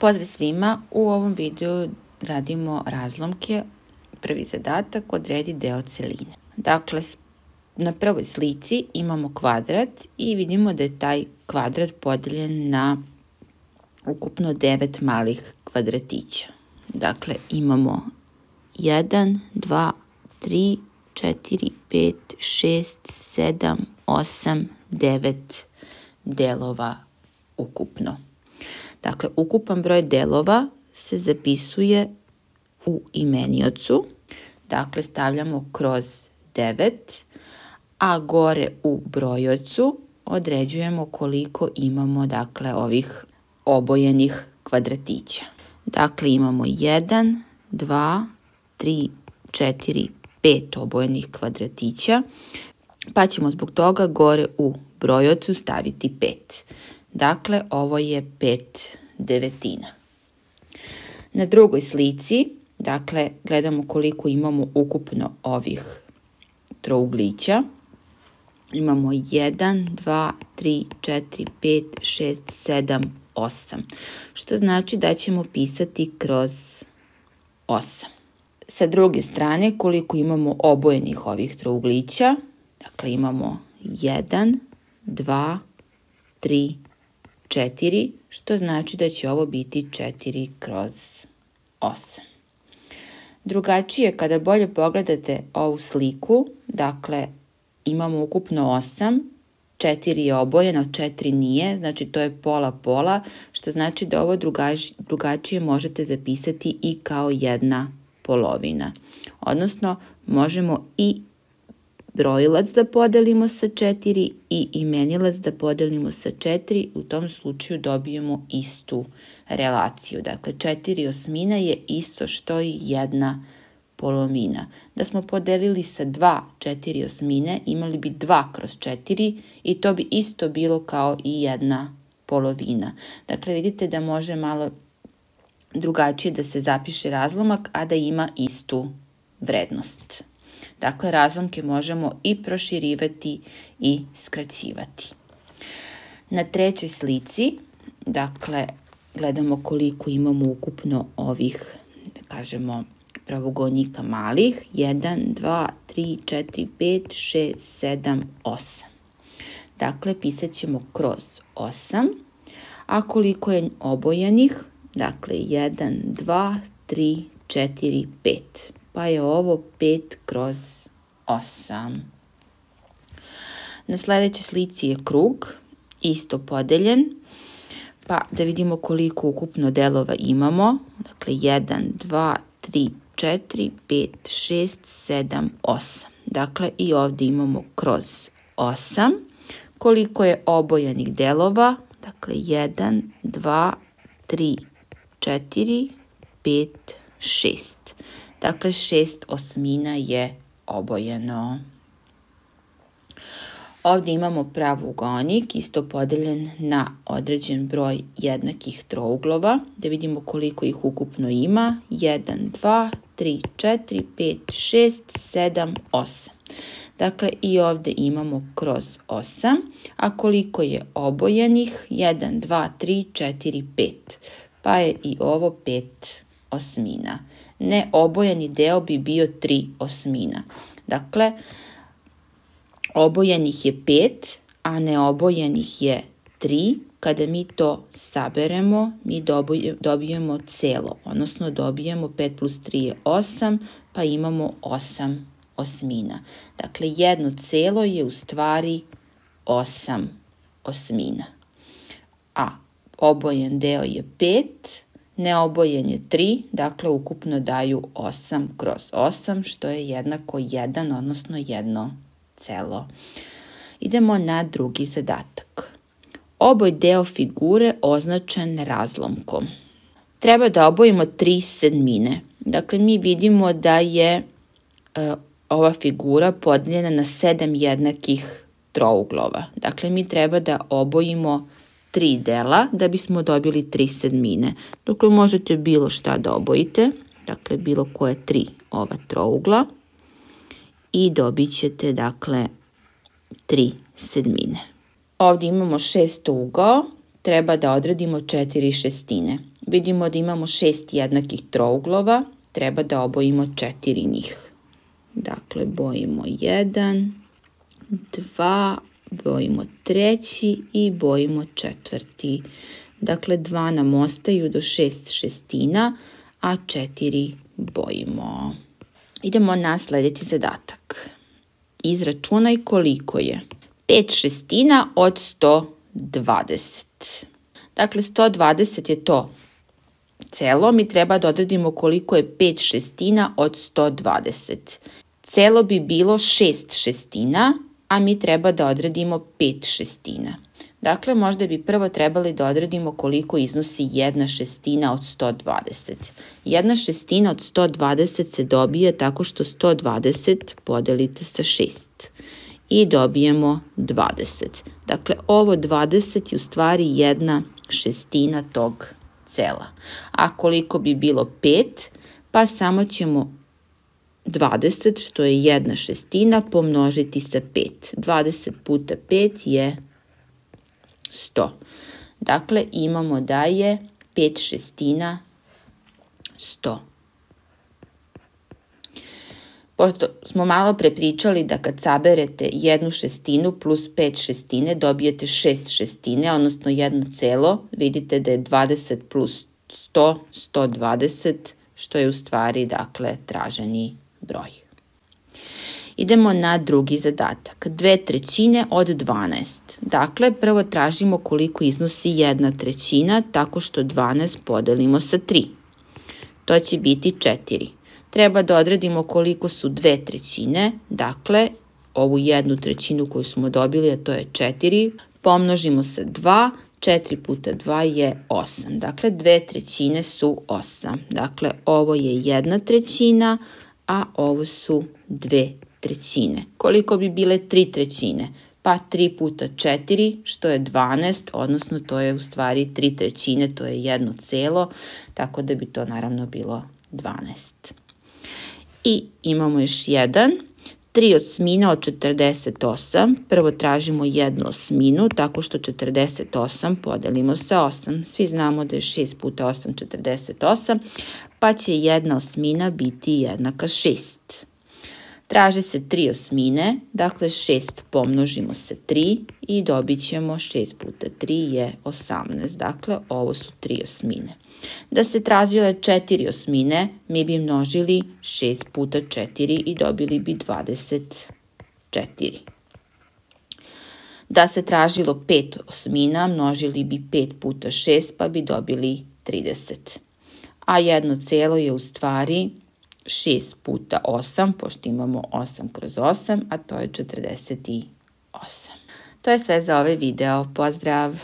Pozdrav svima, u ovom videu radimo razlomke. Prvi zadatak, odredi deo celine. Dakle, na prvoj slici imamo kvadrat i vidimo da je taj kvadrat podeljen na ukupno 9 malih kvadratića. Dakle, imamo 1, 2, 3, 4, 5, 6, 7, 8, 9 delova ukupno. Dakle, ukupan broj delova se zapisuje u imeniocu. Dakle, stavljamo kroz 9, a gore u brojocu određujemo koliko imamo, dakle, ovih obojenih kvadratića. Dakle, imamo 1, 2, 3, 4, 5 obojenih kvadratića, pa ćemo zbog toga gore u brojocu staviti 5. Dakle, ovo je 5 devetina. Na drugoj slici, dakle, gledamo koliko imamo ukupno ovih trouglića. Imamo 1, 2, 3, 4, 5, 6, 7, 8. Što znači da ćemo pisati kroz 8. Sa druge strane, koliko imamo obojenih ovih trouglića. Dakle, imamo 1, 2, 3, 4, što znači da će ovo biti 4 kroz 8. Drugačije, kada bolje pogledate ovu sliku, dakle, imamo ukupno 8, 4 je obojeno, 4 nije, znači to je pola-pola, što znači da ovo drugačije možete zapisati i kao jedna polovina. Odnosno, možemo i brojilac da podelimo sa 4 i imenilac da podelimo sa 4, u tom slučaju dobijemo istu relaciju. Dakle, 4/8 je isto što i 1 polovina. Da smo podelili sa 2 4/8, imali bi 2 kroz 4 i to bi isto bilo kao i 1 polovina. Dakle, vidite da može malo drugačije da se zapiše razlomak, a da ima istu vrednost. Dakle, razlomke možemo i proširivati i skraćivati. Na trećoj slici, dakle, gledamo koliko imamo ukupno ovih, da kažemo, pravougodnika malih. 1, 2, 3, 4, 5, 6, 7, 8. Dakle, pisat ćemo kroz 8. A koliko je obojenih? Dakle, 1, 2, 3, 4, 5. Pa je ovo 5 kroz 8. Na sljedećoj slici je krug, isto podeljen, pa da vidimo koliko ukupno delova imamo. Dakle, 1, 2, 3, 4, 5, 6, 7, 8. Dakle, i ovdje imamo kroz 8. Koliko je obojenih delova? Dakle, 1, 2, 3, 4, 5, 6. Dakle, 6/8 je obojeno. Ovdje imamo pravougonik, isto podeljen na određen broj jednakih trouglova. Da vidimo koliko ih ukupno ima. 1, 2, 3, 4, 5, 6, 7, 8. Dakle, i ovdje imamo kroz 8. A koliko je obojenih? 1, 2, 3, 4, 5. Pa je i ovo 5/8. Neobojeni deo bi bio 3/8. Dakle, obojenih je 5, a neobojenih je 3. Kada mi to saberemo, mi dobijemo celo, odnosno dobijemo 5 plus 3 je 8, pa imamo 8/8. Dakle, jedno celo je u stvari 8/8. A obojen deo je 5, neobojen je 3, dakle ukupno daju 8 kroz 8, što je jednako 1, odnosno 1 celo. Idemo na drugi zadatak. Oboj deo figure označen razlomkom. Treba da obojimo 3/7. Dakle, mi vidimo da je ova figura podeljena na 7 jednakih trouglova. Dakle, mi treba da obojimo 3 dela da bismo dobili 3/7. Dakle, možete bilo šta da obojite, dakle, bilo koje 3 ova trougla i dobit ćete, dakle, 3/7. Ovdje imamo šestougao, treba da odradimo 4 šestine. Vidimo da imamo 6 jednakih trouglova, treba da obojimo 4 njih. Dakle, bojimo 1, 2, bojimo 3 i bojimo 4. Dakle, 2 nam ostaju do 6 šestina, a 4 bojimo. Idemo na sljedeći zadatak. Izračunaj koliko je 5 šestina od 120. Dakle, 120 je to celo, mi treba da odredimo koliko je 5 šestina od 120. Celo bi bilo 6 šestina, a mi treba da odredimo 5 šestina. Dakle, možda bi prvo trebali da odredimo koliko iznosi 1 šestina od 120. 1 šestina od 120 se dobije tako što 120 podelite sa 6 i dobijemo 20. Dakle, ovo 20 je u stvari 1 šestina tog cela. A koliko bi bilo 5? Pa samo ćemo 20, što je 1 šestina, pomnožiti sa 5. 20 puta 5 je 100. Dakle, imamo da je 5 šestina 100. Pošto smo malo prepričali da kad saberete 1 šestinu plus 5 šestine dobijete 6 šestine, odnosno 1 celo, vidite da je 20 plus 100, 120, što je u stvari, dakle, traženi broj. Idemo na drugi zadatak. 2/3 od 12. Dakle, prvo tražimo koliko iznosi 1/3 tako što 12 podelimo sa 3. To će biti 4. Treba da odredimo koliko su 2/3. Dakle, ovu 1/3 koju smo dobili, a to je 4, pomnožimo sa 2. 4 puta 2 je 8. Dakle, 2/3 su 8. Dakle, ovo je 1/3, a ovo su 2/3. Koliko bi bile 3/3? Pa 3 puta 4, što je 12, odnosno to je u stvari 3/3, to je 1 celo, tako da bi to naravno bilo 12. I imamo još jedan. 3/8 od 48. Prvo tražimo 1/8, tako što 48 podelimo sa 8. Svi znamo da je 6 puta 8 48, pa će 1/8 biti jednaka 6. Traži se 3/8, dakle 6 pomnožimo sa 3 i dobit ćemo 6 puta 3 je 18. Dakle, ovo su 3/8. Da se tražile 4/8, mi bi množili 6 puta 4 i dobili bi 24. Da se tražilo 5/8, množili bi 5 puta 6 pa bi dobili 30. A 1 celo je u stvari 6 puta 8, pošto imamo 8 kroz 8, a to je 48. To je sve za ovaj video. Pozdrav!